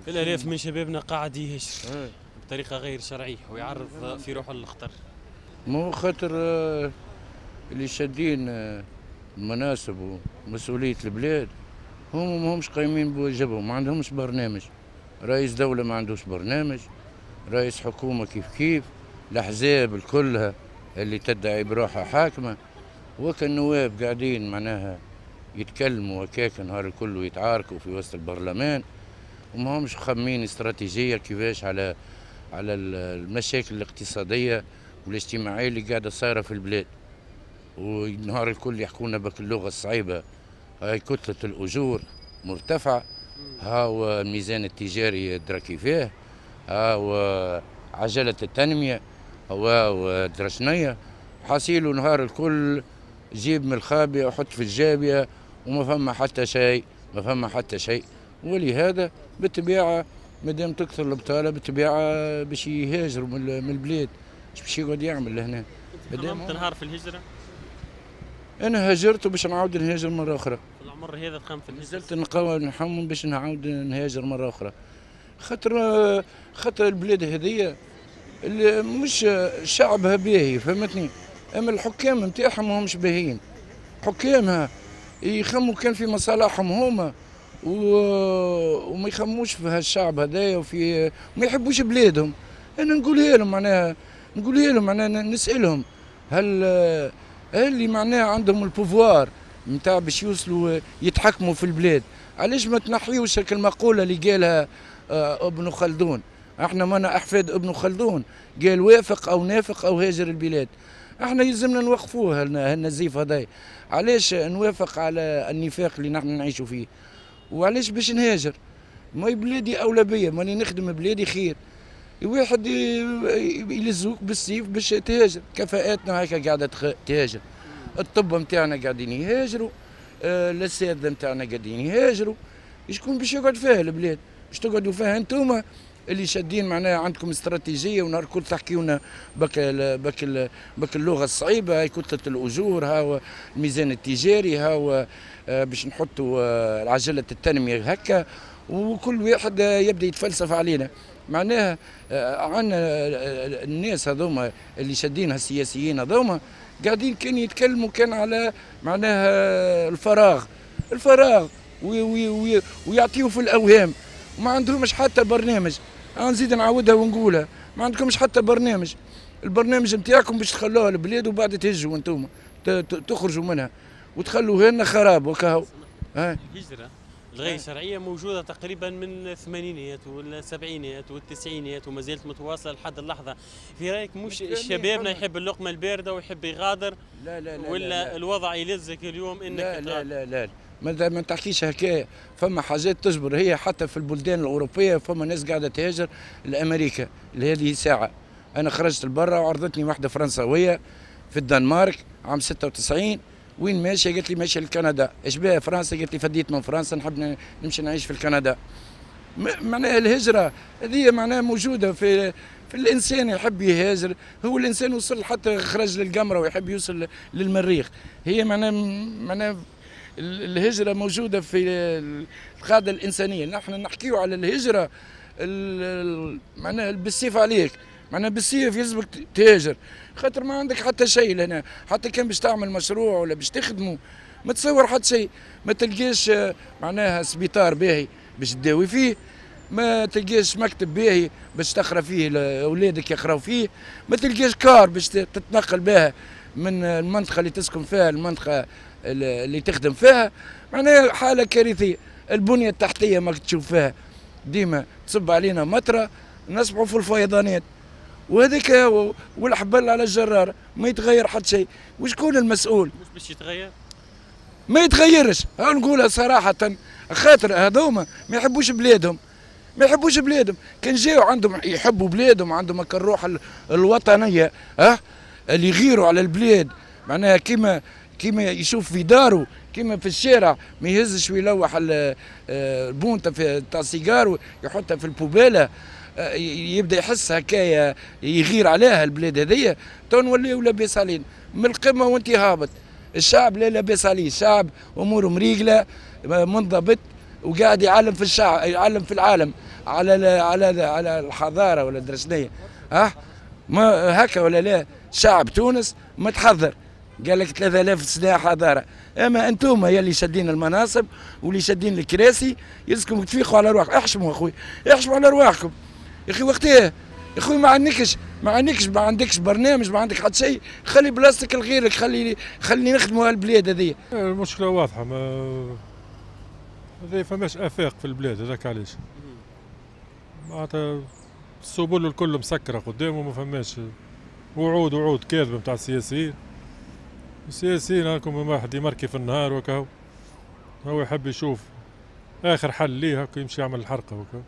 الالاف من شبابنا قاعد يهجر بطريقة غير شرعية ويعرض في روحه للخطر. مو خاطر اللي شادين المناصب ومسؤولية البلاد هم ما همش قايمين بواجبهم، ما عندهمش برنامج. رئيس دولة ما عندوش برنامج، رئيس حكومة كيف كيف، الاحزاب الكلها اللي تدعي بروحها حاكمه، وكالنواب قاعدين معناها يتكلموا هكاك نهار الكل ويتعاركوا في وسط البرلمان، وما همش خمين استراتيجية كيفاش على المشاكل الاقتصادية والاجتماعية اللي قاعدة صايرة في البلاد. ونهار الكل يحكونا بك اللغة الصعيبه، هاي كتلة الاجور مرتفعة، هاو الميزان التجاري درا كيفاه، هاو عجله التنمية، هو درشنيه. حصيلو نهار الكل جيب من الخابيه وحط في الجابية وما فما حتى شيء، ما فما حتى شيء. ولهذا بالطبيعة مادام تكثر البطالة بالطبيعة باش يهاجروا من البلاد، اش باش يقعد يعمل لهنا؟ مادام تنهار في الهجرة؟ انا هاجرت باش نعاود نهاجر مرة اخرى. في العمر هذا تخمم في الهجرة؟ مازلت نحمم باش نعاود نهاجر مرة اخرى. خاطر البلاد هذيا اللي مش شعبها باهي، فهمتني؟ اما الحكام نتاعهم ماهمش باهيين. حكامها يخموا كان في مصالحهم هما وما يخموش في هالشعب هذايا وفي ما يحبوش بلادهم. انا نقولها لهم معناها، نقولها لهم معناها، نسالهم هل اللي معناها عندهم ال pouvoir نتاع باش يوصلوا يتحكموا في البلاد، علاش ما تنحيوش هاك المقولة اللي قالها ابن خلدون؟ احنا مانا احفاد ابن خلدون، قال وافق او نافق او هاجر البلاد. احنا يلزمنا نوقفوه هالنزيف هذايا. علاش نوافق على النفاق اللي نحن نعيشوا فيه؟ وعلاش باش نهاجر؟ ما بلادي اولى بيا، ماني نخدم بلادي خير. واحد يلزوك بالسيف باش تهاجر، كفاءاتنا هكا قاعدة تهاجر، الطب نتاعنا قاعدين يهاجروا، الاساتذة نتاعنا قاعدين يهاجروا. شكون باش يقعد فيها البلاد؟ باش تقعدوا فيها انتوما اللي شادين معناها عندكم استراتيجية ونهار الكل تحكيونا بك بك بك اللغة الصعيبه، هاي كتلة الاجور، ها الميزان التجاري، ها باش نحطوا عجله التنمية هكا، وكل واحد يبدا يتفلسف علينا. معناها عندنا الناس هذوما اللي شادينها السياسيين هذوما قاعدين كان يتكلموا كان على معناها الفراغ، الفراغ ويعطيوا في الاوهام، وما عندهمش حتى برنامج. انا نزيد نعاودها ونقولها، ما عندكمش حتى برنامج. البرنامج نتاعكم باش تخلوها البلاد وبعد تهجوا انتم تخرجوا منها وتخلوها لنا خراب وكهو. الهجرة الغير شرعية موجودة تقريبا من الثمانينات والسبعينات والتسعينات وما زالت متواصلة لحد اللحظة. في رايك مش شبابنا يحب اللقمة البارده ويحب يغادر؟ لا لا لا، ولا لا لا. الوضع يلزك اليوم انك لا لا لا لا، ما تحكيش هكايا. فما حاجات تجبر، هي حتى في البلدان الاوروبية فما ناس قاعدة تهاجر لامريكا لهذه الساعة. انا خرجت لبرا وعرضتني واحدة فرنساويه في الدنمارك عام 96، وين ماشية؟ قالت لي ماشية لكندا. ايش بها فرنسا؟ قالت لي فديت من فرنسا نحب نمشي نعيش في الكندا. معناها الهجرة هذه معناها موجودة في الانسان، يحب يهاجر. هو الانسان وصل حتى خرج للقمره ويحب يوصل للمريخ. هي معناها الهجرة موجودة في القاعدة الانسانية. نحن نحكيو على الهجرة معناها بالسيف عليك، معناها بالسيف يلزمك تهاجر، خاطر ما عندك حتى شيء لهنا. حتى كان باش تعمل مشروع ولا باش تخدمه ما تصور حتى شيء، ما تلقاش معناها سبيطار باهي باش تداوي فيه، ما تلقاش مكتب باهي باش تقرا فيه اولادك يقراو فيه، ما تلقاش car باش تتنقل بها من المنطقة اللي تسكن فيها المنطقة اللي تخدم فيها. معناها حاله كارثية. البنية التحتية ما تشوف فيها، ديما تصب علينا مطره نصبحوا في الفيضانات، وهذاك والحبل على الجرار، ما يتغير حتى شيء. وشكون المسؤول؟ مش باش يتغير؟ ما يتغيرش، نقولها صراحة، خاطر هذوما ما يحبوش بلادهم، ما يحبوش بلادهم. كان جاو عندهم يحبوا بلادهم، عندهم هكا الروح الوطنية، ها اللي يغيروا على البلاد، معناها كيما يشوف في داره كيما في الشارع، ما يهزش ويلوح البونته في تاع السيجار ويحطها في ال poubelle، يبدا يحس هكايا يغير عليها البلاد هذيا، تو نوليو لاباس علينا من القمه وانت هابط. الشعب لا لاباس عليه، الشعب اموره مريقله منضبط وقاعد يعلم في الشعب، يعلم في العالم. على على على الحضارة ولا درسنيه، ها ما هكا ولا لا؟ شعب تونس متحضر، قال لك 3000 سنة حضارة، اما انتم يلي شادين المناصب واللي شادين الكراسي يلزمكم تفيقوا على رواحكم، احشموا اخوي، احشموا على رواحكم يا اخي. وقتها يا اخوي ما عندكش برنامج، ما عندك حتى شيء، خلي بلاصتك لغيرك، خليني نخدموا هالبلاد هذه. المشكلة واضحة، ما هذا فماش افاق في البلاد، هذاك علاش معناتها السبل الكل مسكره قدامه، ما فماش وعود كاذبة نتاع السياسيين. السياسيين هاكم واحد يمركي في النهار وكاهو، هو يحب يشوف اخر حل ليه هاكا يمشي يعمل الحرقة وكاهو.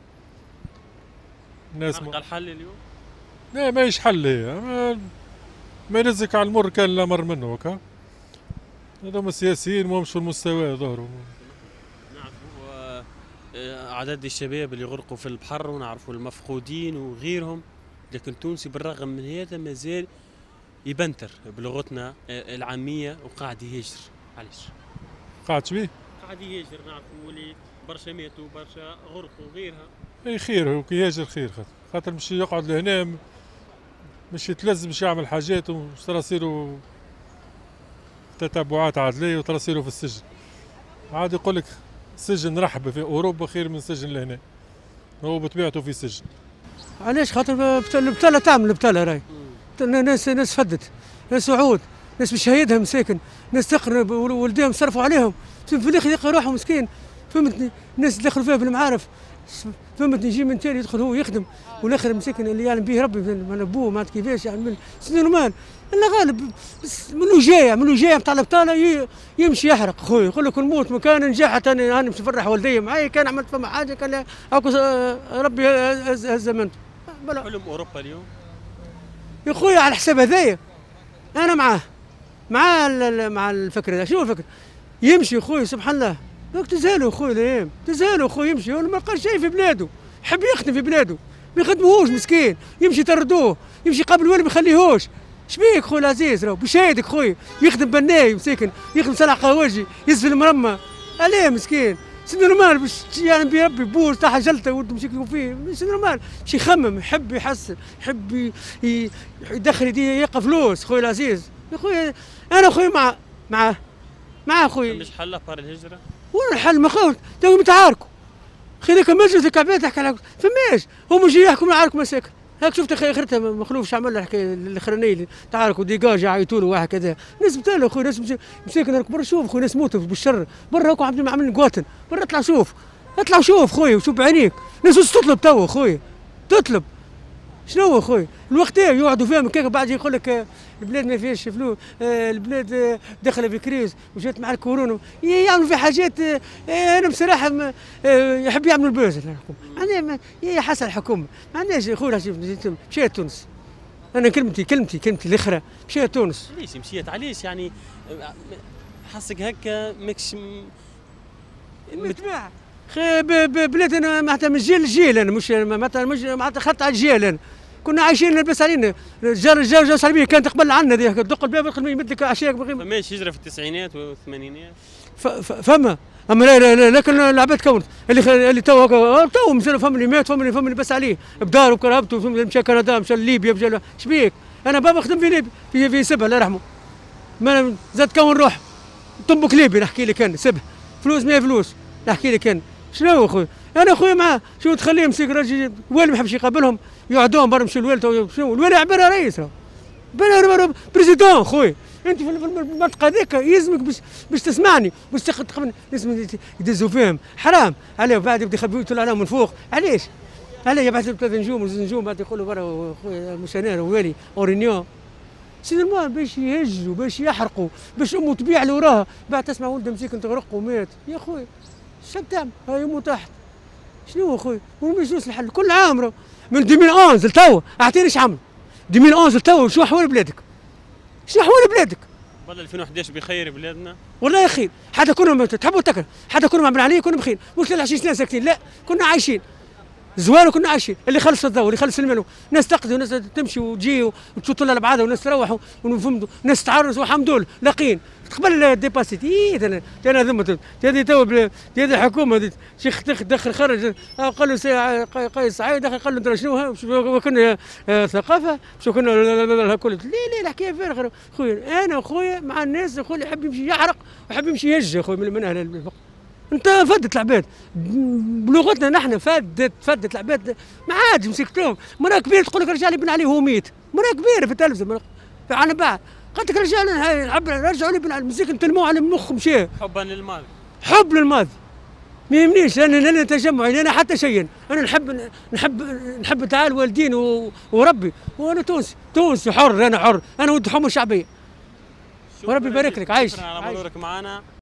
الناس حرقه الحل اليوم؟ لا ماهيش حل هي، ما يرزق على المر كان لا مر منه وكا. هذوما السياسيين ماهمش في المستوى ظهروا. نعرفوا عدد الشباب اللي غرقوا في البحر ونعرفوا المفقودين وغيرهم، لكن التونسي بالرغم من هذا مازال يبنتر بلغتنا العامية وقاعد يهاجر. علاش؟ قاعد شبيه؟ قاعد يهاجر، نعرفوا اللي برشا ماتوا برشا غرقوا وغيرها. اي خير هو كي يهاجر خير، خاطر مش يقعد لهنا مش يتلز باش يعمل حاجات وتراسيلو تتبعات عدليه وتراسيلو في السجن. عاد يقول لك سجن رحبه في اوروبا خير من سجن لهنا، هو بطبيعته في سجن. علاش؟ خاطر البطالة تعمل البطالة راهي. ناس فدت، ناس وعود، ناس بشهايدها مساكن، ناس تقرب والديهم صرفوا عليهم، في الاخر يلقى روحه مسكين، فهمتني؟ ناس دخلوا فيها بالمعارف، فهمتني؟ يجي من تالي يدخل هو يخدم، والاخر مساكن اللي يعلم به ربي من ابوه ما كيفاش يعمل، c'est normal، الله غالب منو جايع نتاع البطالة يمشي يحرق خويا، يقول لك نموت مكان نجحت انا باش نفرح والدي معايا، كان عملت فما حاجة كان ربي هز منته. حلم اوروبا اليوم؟ يا خويا على حساب هذايا انا معاه، مع الفكرة هذا. شنو الفكرة؟ يمشي خويا سبحان الله، donc تزالوا خويا الايام، تزالوا خويا يمشي، هو ما لقاش شيء في بلاده، يحب يخدم في بلاده، ما يخدموهوش مسكين، يمشي يطردوه، يمشي قبل الوالي ما يخليهوش. شبيك خويا العزيز؟ راهو بشهادك خويا، يخدم بناي مساكن، يخدم صنع قهوجي، يزف المرمى، عليه مسكين، c'est normal باش يعني بربي بوز تاع جلطة ولده مشي فيه، c'est normal باش يخمم، يحب يحسن، يحب يدخل يديه يلقى فلوس خويا العزيز. يا خويا انا خويا مع مع خويا. مش حل à part الهجرة؟ وين الحل؟ ما خويا تو متعاركوا. خي ذاك المجلس ذاك عباد تحكي على فماش، هما يجي يحكموا يعاركوا مساكن. هاك شفت اخرتها مخلوف عمل الحكاية الاخرانية اللي تعاركوا dégage يعيطوا له واحد كذا، ناس بتالو خويا، ناس مساكن برا شوف خويا، ناس موتوا بالشر برا، هاكو عاملين قواتن برا، اطلع شوف، اطلع شوف خويا وشوف بعينيك، ناس تطلب توا خويا، تطلب شنو هو خويا؟ الوقت يقعدوا فيهم كيك بعد يقول لك البلاد ما فيهاش فلوس، البلاد داخله في crise وجات مع الكورونا، يعملوا في حاجات انا بصراحة يحب يعملوا ال buzz الحكومة، هي حسن الحكومة، ما عندناش خويا. مشيت تونس، انا كلمتي كلمتي كلمتي الاخرى، مشيت تونس. علاش مشيت؟ علاش يعني حاسك هكا ماكش متباع؟ بلاد انا معناتها من جيل لجيل، انا مش معناتها مش معناتها خدت على الجيل، انا كنا عايشين لاباس علينا، الجار الجار جالس على كانت قبل عندنا ذيك تدق الباب يدخل يمد لك عشاك. فماش هجره في التسعينات والثمانينات؟ فما اما لا لا لا، لكن العباد كونت اللي تو مشى، فما اللي مات، فما اللي بس عليه بداره وكرهبته، مشى كندا، مشى لليبيا، مشى شبيك. انا بابا خدم في ليبيا في سبها الله يرحمه، ما زاد كون روح طبك ليبي نحكي لك انا، سبها فلوس ما فلوس نحكي لك انا. شنو خويا؟ انا خويا معاه، شو تخليه مسيك راجل والي ما يحبش يقابلهم، يقعدوهم برا مشوا الوالي، شنو الوالي عبارة رئيس، راه président خويا، انت في المنطقة هذيك يلزمك باش تسمعني، باش تقبل، لازم يدزوا فيهم، حرام عليه. بعد يبدا يخبيو يطلع عليهم من فوق، علاش؟ علاش يبعث ثلاث نجوم وزوج نجوم بعد يقولوا برا خويا مش انا والي en réunion. c'est normal باش يهجوا باش يحرقوا باش امه تبيع اللي وراها، بعد تسمع ولده مسكين تغرق ومات، يا خويا شو تعمل؟ هاي امه تحت. شنو خويا؟ ومش نوصل الحل كل عام راه من 2011 لتوا، اعطيني اش عمل 2011 لتوا، شو احوال بلادك؟ شنو احوال بلادك؟ والله 2011 بخير بلادنا؟ والله خير، حتى كنا تحبوا تكره، حتى كنا مع بن علي كنا بخير، مش 23 سنة ساكتين، لا كنا عايشين. زوال وكنا عايشين، اللي خلص الضوء اللي خلص الماء، ناس تقضي وناس تمشي وتجي وتطلع لبعضها وناس تروح ونفهموا، ناس تعرس والحمد لله لاقين. قبل dépassé انا انا ذمة هذه تو هذه الحكومة شيخ دخل خرج قال له قيس سعيد دخل قال له ندري شنو وكنا ثقافة شو كنا كل. لا لا الحكاية فارغة خويا. انا خويا مع الناس خويا يحب يمشي يحرق ويحب يمشي يهج خويا من اهل الفقر. انت فدت العباد بلغتنا نحن، فدت العباد ما عادش مسكتهم. مرة كبيرة تقول لك رجع لي بن علي هو ميت، مرة كبيرة في التلفزيون على بعد قالت لك رجع لي رجعوا لي بن علي مسكين تلموه على المخ مشى. حبا للماضي، حب للماضي ما يهمنيش انا لا تجمعي انا حتى شيء. انا نحب نحب نحب تعال والدين وربي، وانا تونسي تونسي حر، انا حر، انا ولد حومه شعبية. وربي يبارك لك. عايش شكرا على مرورك معنا.